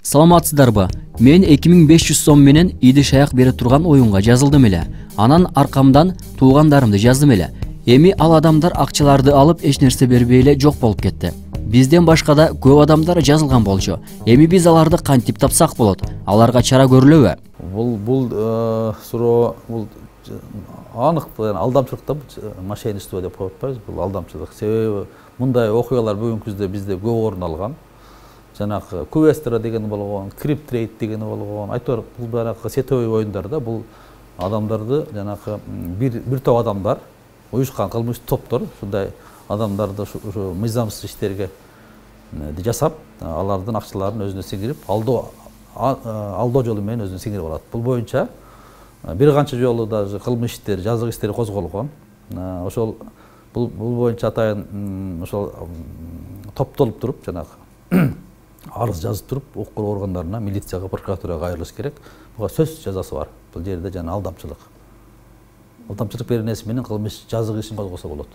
Саламатсыздарбы? Мен 2500 сом менен идиш аяк бере турган оюнга жазылдым эле. Анан аркамдан туугандарымды жаздым эле. Эми ал адамдар акчаларды алып эч нерсе бербей эле жок болуп кетти. Бизден башка да көп адамдар жазылган болчу. Эми биз аларды кантип тапсак болот? Аларга чара көрүлөбү? Бул суроо бул анык алдамчылык да, мошенничество деп коюп атпайбыз. Бул алдамчылык. Себеби мындай окуялар бүгүнкү күндө бизде көп орун алган. Жанагы Квестра деген болгон, Крип-трейд деген болгон. Айтор бул баягы сетевой оюндар да, бул адамдарды жанагы бир топ адамдар уюшкан кылмыштуу топтор ушундай адамдарды ушу мыйзамсыз иштерге жасап, алардын акчаларын өзүнө сиңирип, алдоо жолу менен өзүнө сиңирип алат. Бул боюнча бир канча жолу даже кылмыш иштери, жазык иштери козголгон. Ошол бул боюнча атайын ошол топтолуп туруп жанагы арыз жазып туруп, укук коргоо органдарына, милицияга, прокуратурага кайрылыш керек. Буга сөзсүз жазасы бар. Бул жерде жана алдамчылык. Алдамчылык беренеси менен кылмыш жазык ишин козгосо болот.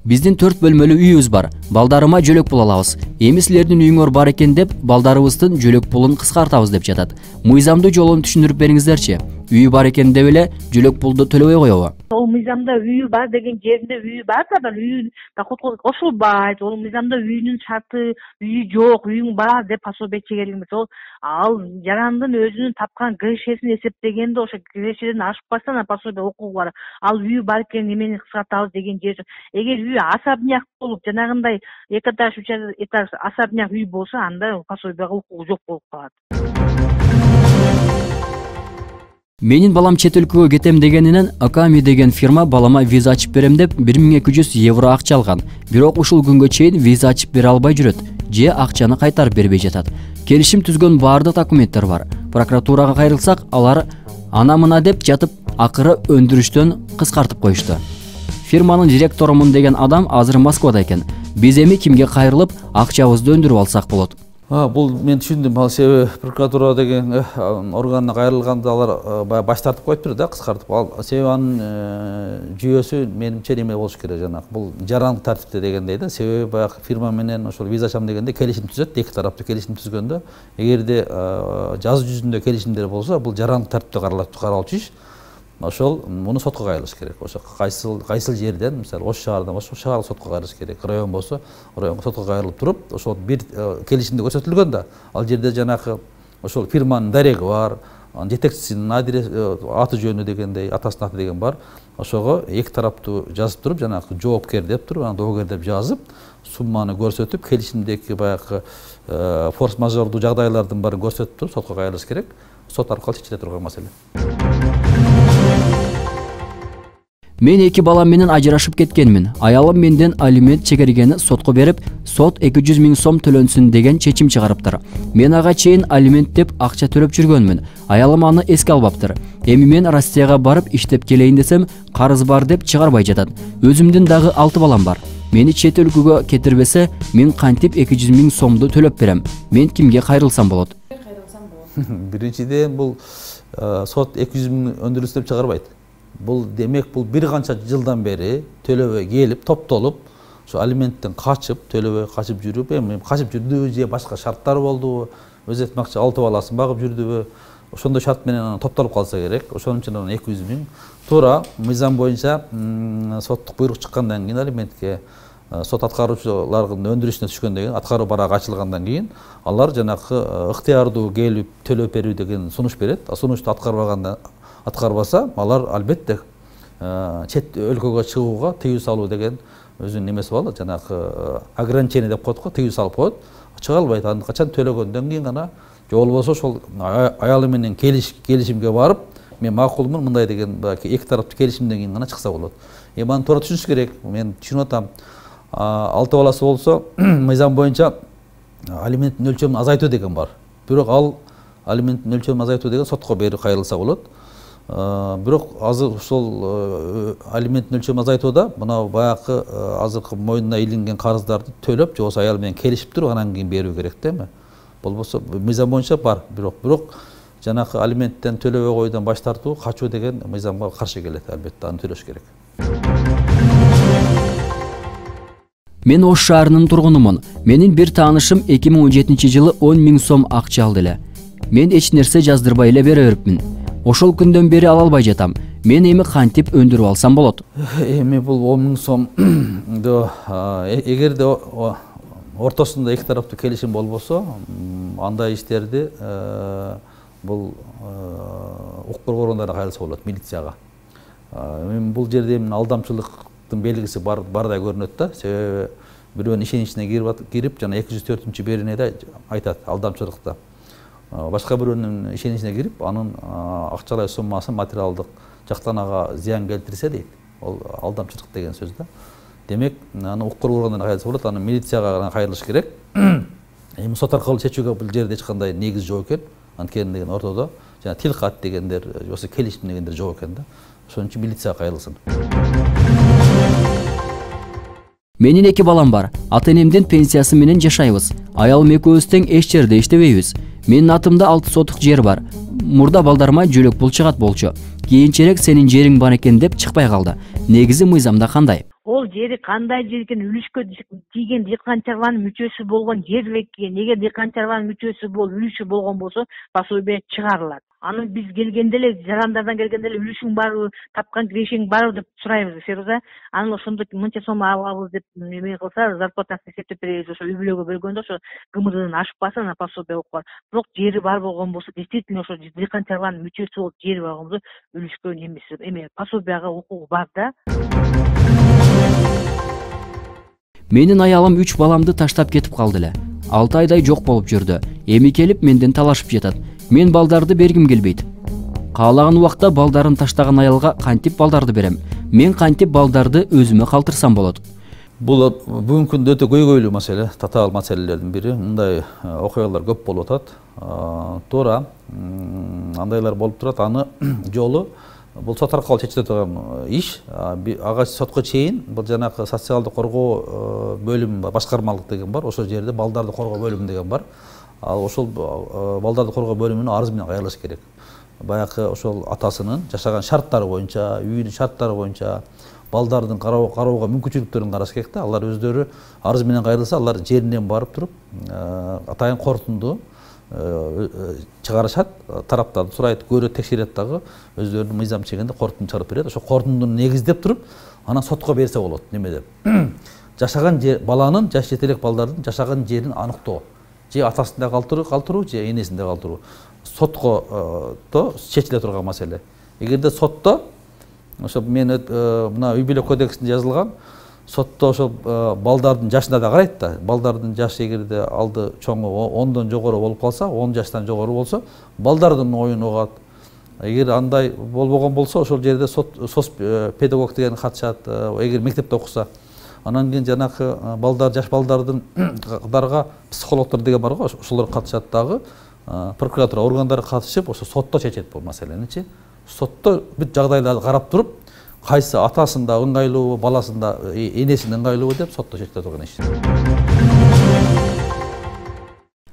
Биздин 4 бөлмөлүү үйүбүз бар. Балдарыма жөлөк пул алабыз. Эми силердин үйүңөр бар экен деп, балдарыбыздын жөлөк пулун кыскартабыз деп жатат. Мыйзамдуу жолун түшүндүрүп бериңиздерчи. Үйү бар экен деп эле жөлөк пулду төлөбөй коебу? Ол мыйзамда үйү бар деген жеринде үйү бар да, үйүн доходко кошулбайт. Ол мыйзамда үйүнүн шарты, үйү жок, үйүң бар деп пособие чегерилген эмес. Ол ал жарандын өзүнүн тапкан кирешесин эсептегенде ошо кирешеден ашып калса ана пособие укугу бар. Ал үйү бар экен, эмени кыскартабыз деген жер. Эгер үйү особняк болуп, жанагындай 2 этаж, 3 этаж особняк үй болсо, анда пособияга укугу жок болуп калат. Менин балам чет өлкөгө кетем дегенинен Аками деген фирма балама виза ачып берем деп 1200 евро акча алган. Бирок ушул күнгө чейин виза ачып бере албай жүрөт. Же акчаны кайтарып бербей жатат. Келишим түзгөн баардык документтер бар. Прокуратурага кайрылсак, алар ана-мына деп жатып, акыры өндүрүштөн кыскартып коюшту. Фирманын директорумун деген адам азыр Москвада экен. Биз эми кимге кайрылып, акчабызды өндүрүп алсак болот? Бул мен түшүндүм. Ал себеби прокуратура деген органына кайрылганда алар баягы баш тартып коюптур да, кыскартып. Ал себеби анын жүйөсү менимче неме болуш керек, жанагы бул жарандык тартипте дегендей да. Себеби баягы фирма менен ошол виза ачам дегенде келишим түзөт, эки тараптуу келишим түзгөндө, эгерде жазуу жүзүндө келишимдер болсо, бул жарандык тартипте каралчу иш. Ошол муну сотко кайрылыш керек. Ошо кайсыл жерден, мисалы Ош шаардан Ош шаардык сотко кайрылыш керек. Район болсо, районго сотко кайрылып туруп, ошол бир келишимде көрсөтүлгөн да. Ал жерде жанагы ошол фирманын дареги бар, жетекчисинин аты жөнү дегендей, атасынын аты деген бар. Ошого эки тараптуу жазып туруп, жанагы жоопкер деп туруп, анан доогер деп жазып, сумманы көрсөтүп, келишимдеги баягы форс-мажордуу жагдайлардын баарын көрсөтүп туруп, сотко кайрылыш керек. Сот аркылуу чечиле турган маселе. Мен 2 балам менен ажырашып кеткенмин. Аялым менден алимент чегергени сотко берип, сот 200 000 сом төлөнсүн деген чечим чыгарыптыр. Мен ага чейин алимент деп акча төлөп жүргөнмүн. Аялым аны эске албаптыр. Эми мен Россияга барып иштеп келейин десем, карыз бар деп чыгарбай жатат. Өзүмдүн дагы 6 балам бар. Мени чет өлкөгө кетирбесе, мен кантип 200 000 сомду төлөп берем? Мен кимге кайрылсам болот? Биринчиден бул сот 200 000 өндүрүш деп чыгарбайт. Бул демек бул бир канча жылдан бери төлөбөй келип, топтолуп, ошо алименттен качып, төлөбөй качып жүрүп, эми качып жүрдүбү же башка шарттар болдубу, өз этмакчы 6 баласын багып жүрдүбү, ошондой шарт менен топтолуп калса керек. Ошонун үчүн 200 000 туура мыйзам боюнча соттук буйрук чыккандан кийин алиментке сот аткаруучулардын өндүрүшүнө түшкөндөн кийин, аткаруу барагы ачылгандан кийин, алар жанагы ыктыярдуу келип төлөп берүү деген сунуш берет. Сунушту аткарбаса, алар албетте чет өлкөгө чыгууга тыюу салуу деген өзүнүн немеси бар, жанагы ограничение деп коет го, тыюу салып коет. Чыга албайт. Аны качан төлөгөндөн кийин гана, же болбосо ошол аялы менен келишимге барып, мен макулмун мындай деген эки тараптуу келишимден кийин гана чыкса болот. Эми аны туура түшүнүш керек. Мен түшүнүп атам. 6 баласы болсо, мыйзам боюнча алименттин өлчөмүн азайтуу деген бар. Бирок ал алименттин өлчөмүн азайтуу деген сотко берип кайрылса болот. Бирок азыр ушул алименттин өлчөмүн азайтууда мына баягы азыркы мойнуна илинген карыздарды төлөп, же болбосо аял менен келишип туруп, анан кийин берүү керек да эми. Болбосо мыйзам боюнча бар, бирок жанагы алименттен төлөбөй коюудан баш тартуу, качуу деген мыйзамга каршы келет, албетте аны төлөш керек. Мен Ош шаарынын тургунумун. Менин бир таанышым 2017-жылы 10 000 сом акча алды эле. Мен эч нерсе жаздырбай эле бере берипмин. Ошол күндөн бери ала албай жатам. Мен эми кантип өндүрүп алсам болот? Эми бул 10 000 сом эгерде ортосунда эки тараптуу келишим болбосо, андай иштерди бул укук коргоо органдарына кайрылса болот, милицияга. Эми бул жерде алдамчылыктын белгиси бардай көрүнөт да. Себеби бирөөнүн ишеничине кирип, жана 204-беренеде айтат алдамчылыкта. Башка бирөөнүн ишеничине кирип, анын акчалай суммасын материалдык жактан ага зыян келтирсе дейт. Ол алдамчылык деген сөз да. Демек, аны укук коргоо органдарына кайрылса болот, аны милицияга кайрылыш керек. Эми сот аркылуу чечүүгө бул жерде эч кандай негиз жок экен. Анткени деген ортодо жана тил кат дегендер, болсо келиштим дегендер жок экен да. Ошон үчүн милицияга кайрылсын. Менин 2 балам бар. Ата-энемдин пенсиясы менен жашайбыз. Аялым экөөбүз тең эч жерде иштебейбиз. Менин атымда 6 сотук жер бар. Мурда балдарыма жөлөк пул чыгат болчу. Кийинчерээк сенин жериң бар экен деп чыкпай калды. Негизи мыйзамда кандай? Ол жери кандай жер экен, үлүшкө тийген дыйкан чарбанын мүчөсү болгон жер экен. Эгер дыйкан чарбанын мүчөсү үлүшү болгон болсо, пособие чыгарылат. Аны биз келгенде эле, жарандардан келгенде эле үлүшүң барбы, тапкан кирешиң барбы деп сурайбыз, Феруза. Аны ошондо мынча сом алабыз деп эме кылса, зарплатасын эсептеп беребиз. Ошо үй бүлөгө бөлгөндө ошо ГМДдан ашпаса, ана пособие укуп. Бирок жери бар болгон болсо, действительно ошо дыйкан чарбанын мүчөсү болуп жери бар болсо, үлүшкө немеси эме пособияга укугу бар да. Менин аялым 3 баламды таштап кетип калды эле. 6 айдай жок болуп жүрдү. Эми келип менден талашып жатат. Мен балдарды бергим келбейт. Каалаган убакта балдарын таштаган аялга кантип балдарды берем? Мен кантип балдарды өзүмө калтырсам болот? Бул бүгүнкү күндө өтө көйгөйлүү маселе, татаал маселелердин бири. Мындай окуялар көп болуп атат. Туура андайлар болуп турат. Аны жолу бул сот аркылуу чечиле турган иш. Ага сотко чейин бул жанагы социалдык коргоо бөлүмү бар, башкармалык деген бар. Ошол жерде балдарды коргоо бөлүмү деген бар. Ал ошол балдарды коргоо бөлүмүнө арыз менен кайрылыш керек. Баягы ошол атасынын жашаган шарттары боюнча, үйүнүн шарттары боюнча балдардын кароого мүмкүнчүлүктөрүн караш керек да. Алар өздөрү арыз менен кайрылса, алар жеринен барып туруп атайын корутунду чыгарышат, тараптарды сурайт, көрөт, текшерет дагы, өздөрүнүн мыйзам чегинде корутунду чыгарып берет. Ошо корутундуну негиздеп туруп, анан сотко берсе болот. Неме деп? Жашаган баланын, жаш жетелек балдардын жашаган жерин аныктоо. Же атасында калтыруу, же энесинде калтыруу. Сотко чечиле турган маселе. Эгерде сотто, ошо мен мына үй бүлө кодексинде жазылган, сотто ошол балдардын жашына да карайт да. Балдардын жашы эгерде алды чоңу 10дон жогору болуп калса, 10 жаштан жогору болсо, балдардын оюн угат. Эгер андай болбогон болсо, ошол жерде сос педагог деген катышат. Эгер мектепте окуса, анан кийин жанагы балдар, жаш балдардын катарга психологдор деген бар го, ошолор катышат дагы. Прокуратура органдары катышып, ошо сотто чечет бул маселени-чи. Сотто бүт жагдайларды карап туруп, кайсы атасында ыңгайлуубу, баласында энесинде ыңгайлуубу деп сотто чечиле турган иш.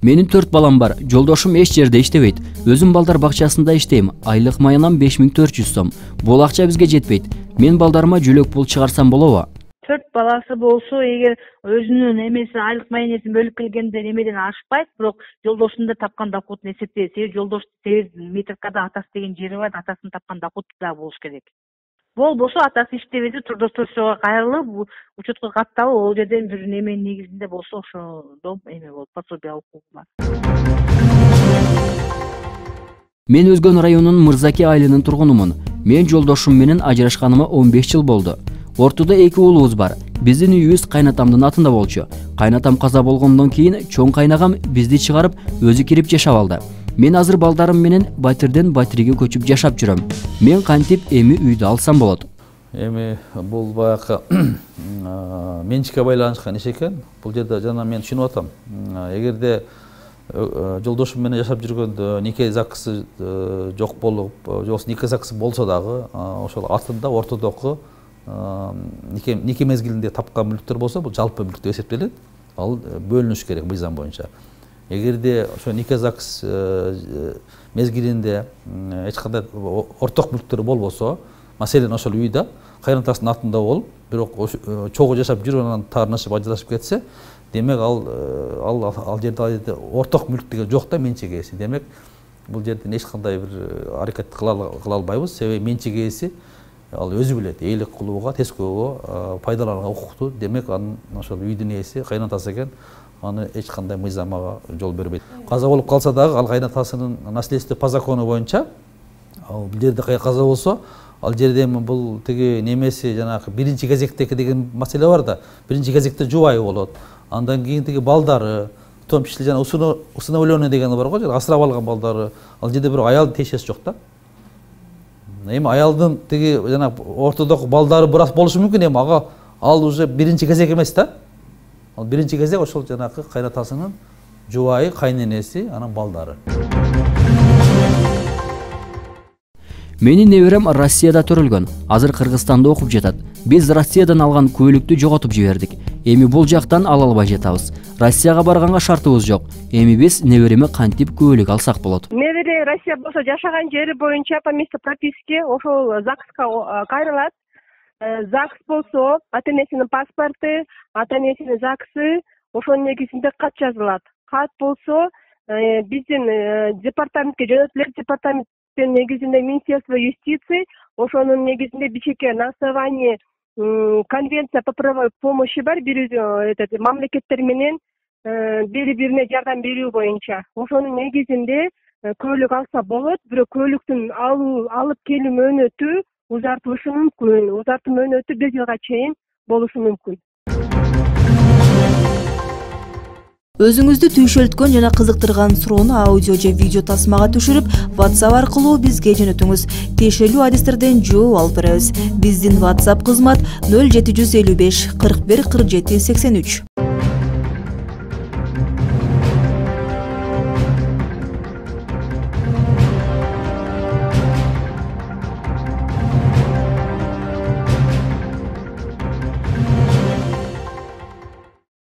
Менин 4 балам бар. Жолдошум эч жерде иштебейт. Өзүм балдар бакчасында иштейм. Айлык маянам 5400 сом. Бул акча бизге жетпейт. Мен балдарыма жөлөк пул чыгарсам болобу? 4 баласы болсо, эгер өзүнүн эмесин, айлык маянесин бөлүп келгенде немеден ашпайт, бирок жолдошунда тапкан доходун эсептейт. Жолдош метркада атасы деген жери бар, атасынын тапкан доходу да болуш керек. Болбосо атасы иштебесе, трудоустройствого кайрылып, учетко катталып, ол жерден бир неменин негизинде болсо, ошондо эме болот, пособие укугу бар. Мен Өзгөн районунун Мырзаки айылынын тургунумун. Мен жолдошум менен ажырашканыма 15 жыл болду. Ортодо 2 уулубуз бар. Биздин үйүбүз кайнатамдын атында болчу. Кайнатам каза болгондон кийин чоң кайнагам бизди чыгарып, өзү кирип жашап алды. Мен азыр балдарым менен Батирден Батирге көчүп жашап жүрөм. Мен кантип эми үйдү алсам болот? Эми бул баягы менчикке байланышкан иш экен. Бул жерде жана мен түшүнүп атам. Эгерде жолдошум менен жашап жүргөндө нике закысы жок болуп, жоксу нике закысы болсо дагы, ошол атында ортодогу нике мезгилинде тапкан мүлктөр болсо, бул жалпы мүлк деп эсептелет. Ал бөлүнүш керек мыйзам боюнча. Эгерде ошо нике закыс мезгилинде эч кандай орток мүлктөр болбосо, маселен ошол үйдө, кайнатасынын атында болуп, бирок чогуу жашап жүрүп анан таарынашып ажырашып кетсе, демек ал жерде орток мүлк деген жок да, менчик ээси. Демек бул жерден эч кандай бир аракет кыла албайбыз, себеби менчик ээси ал өзү билет, эйлик кылууга, тескөөгө, пайдаланууга укуктуу. Демек анын ошол үйдүн ээси кайнатасы экен, аны эч кандай мыйзамага жол бербейт. Каза болуп калса дагы ал кайнатасынын наследство по закону боюнча бул жерде каза болсо, ал жерде эми бул тиги немеси жанагы биринчи кезектеги деген маселе бар да. Биринчи кезекте жубайы болот. Андан кийин тиги балдары, в том числе жана усыновленный деген бар го, асырап алган балдары. Ал жерде бирок аялдын тиешеси жок да. Эми аялдын тиги жана ортодогу балдары бир аз болушу мүмкүн, эми ага ал уже биринчи кезек эмес да. Ал биринчи кезек ошол жанагы кайнатасынын жубайы, кайненеси, анан балдары. Менин неберем Россияда төрөлгөн. Азыр Кыргызстанда окуп жатат. Биз Россиядан алган көйлүктү жоготуп жибердик. Эми бул жактан ала албай жатабыз. Россияга барганга шартыбыз жок. Эми биз небереме кантип көйлүк алсак болот? Небере Россия болсо жашаган жери боюнча по месту прописки ошол ЗАГСка кайрылат. ЗАГС болсо ата-энесинин паспорту, ата-энесинин ЗАГСы, ошонун негизинде кат жазылат. Кат болсо биздин департаментке жөнөтүлөт. Департаменттин негизинде Министерство юстиции, ошонун негизинде Бишкекке на основании конвенция по правовой помощи бар, мамлекеттер менен бири-бирине жардам берүү боюнча. Ошонун негизинде көйлүк алса болот, бирок көйлүктүн алып келүү мөөнөтү узартылышы мүмкүн. Узартуу мөөнөтү 1 жылга чейин болушу мүмкүн. Өзүңүздү түйшөлткөн жана кызыктырган суроону аудио же видео тасмага түшүрүп, WhatsApp аркылуу бизге жөнөтүңүз. Тиешелүү адистерден жооп алып беребиз. Биздин WhatsApp кызмат 0755 41 47 83.